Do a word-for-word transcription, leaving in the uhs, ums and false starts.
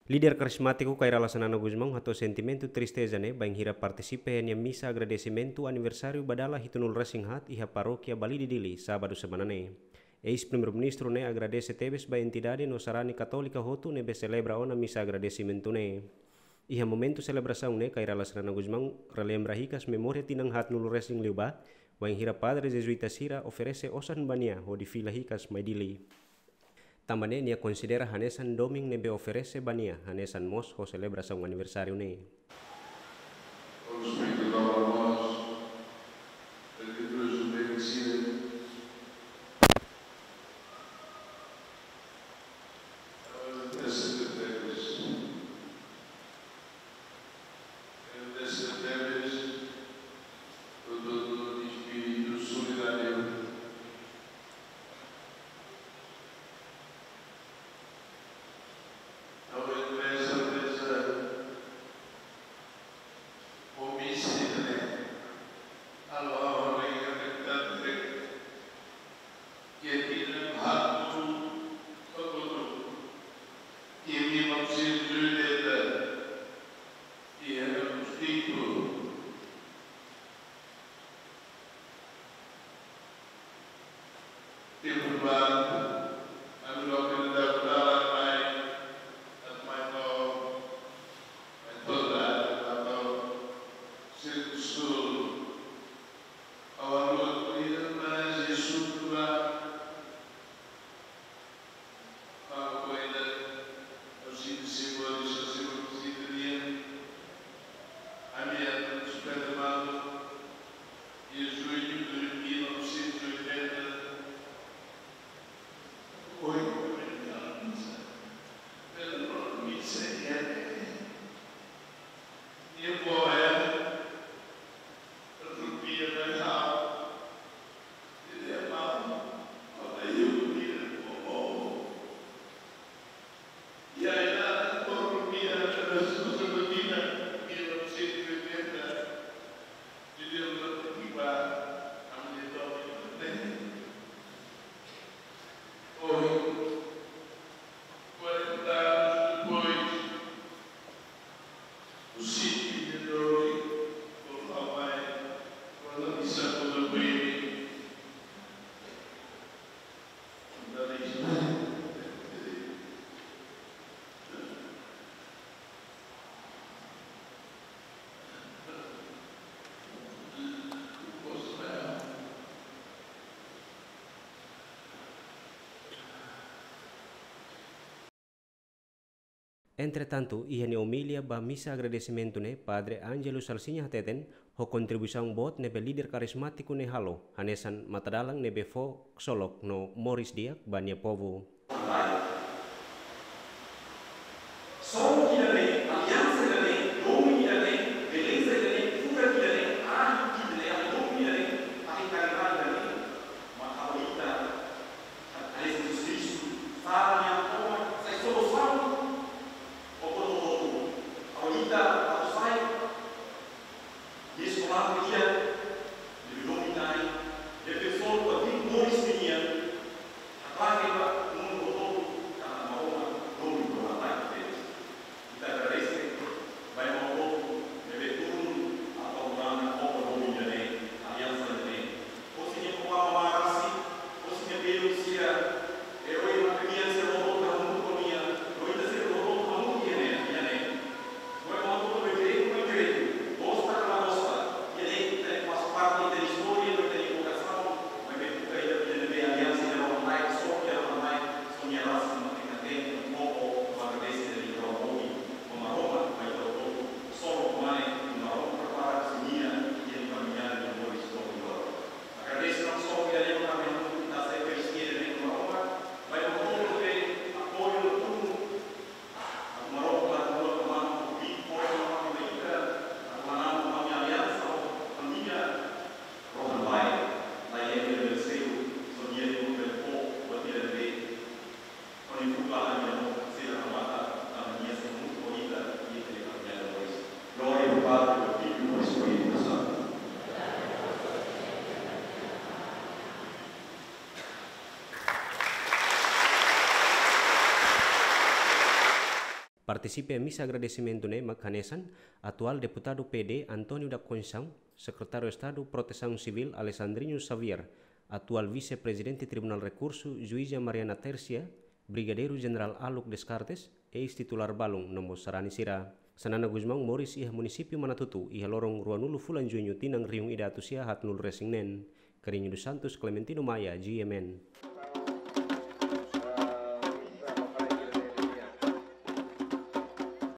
Líder karizmátiku Kay Rala Xanana Gusmão hato'o sentimentu tristeza ne'e bainhira partisipa iha nia misa agradesimentu aniversáriu ba dala hitunulu resin haat iha Parókia Balide Dili, sábadu semana ne'e. Eis-Primeiru-Ministru ne'e agradese tebes ba entidade no sarani katólika hotu ne'ebé selebra ona misa agradesimentu ne'e. Iha momentu selebrasaun ne'e, Kay Rala Xanana Gusmão relembra hikas memória tinan haatnulu resin liubá, bainhira padre jezuíta sira oferese osan ba nia hodi fila hikas mai Dili. Tanba ne'e nia konsidera hanesan domin ne'ebé oferese ba nia, hanesan mós ho selebrasaun aniversáriu ne'e. Vamos pedir ao nosso, para que Deus o bendiga. Agradece a Deus. Agradece a Deus. Todo, todo espírito solidário. Agradece a Deus. Komisida ne'e, halo ha'u hanoin katak iha tinan haatnulu, haatnulu, iha mil novecentos e oitenta, iha Angostitu, tempu ba, ami loke ida-ne'e dalan mai, dalan mai to'o, mai to'o dalan mai to'o, Sirku Sul. Ha'u haluha tuir ida-ne'e, mas Jesus tu la. Ha'u ko'alia, ha'u sente simbóliku, simbóliku, sente nian. Ami atu espera malu, iha jullu de mil novecentos e oitenta. Ohin, ohin, misa. Pelo misa, iha ne'e. Nia boa, eh? Rupia, eh, ha'u. Nia mau, ha'u la iha rupia, boa, boa. E aí, lá, por rupia, Jesus, rupia, mil novecentos e oitenta, de Deus, rupia, a minha dona, né? Ohin, quarenta anos depois, o sítio de Dori, por lá vai, por lá de São Paulo, bem. Entretantu, iha nia omilia ba misa agradesimentu ne'e, Padre Ângelo Salsinha hateten, ho kontribuisaun boot ne'ebé líder karizmátiku ne'e halo, hanesan matadalan ne'ebé fó ksolok no moris di'ak ba nia povu. Solusaun ida-ne'e, aliansa ida-ne'e, domin ida-ne'e, beleza ida-ne'e, furak ida-ne'e, ahi ida-ne'e, domin ida-ne'e, ahi karidade ida-ne'e, mak halo ita, hanesan Jesus Kristu, sala nia tomak, sai solusaun, o koto-koto, halo ita, halo sai, Nia eskolante di'ak, ne'ebé domin na'in, defensór ba direitu moris nian, haklaken ba mundu hotu katak Maromak domin no hatán tebes. Partisipa iha misa agradesimentu ne'e mak hanesan atuál deputadu P D António da Conceição, Sekretáriu Estadu Protesaun Sivíl Alexandrino Xavier, atuál Vise-Prezidente Tribunál Rekursu Juíza Mariana Tércia, Brigadeiru Jenerál Aluk Descartes, eis-titulár balun no mós sarani sira. Xanana Gusmão moris iha munisípiu Manatuto iha loron ruanulu fulan Juñu tinan rihun ida atus sia haatnulu resin neen. Carreño dos Santos, Clementino Maia, G M N.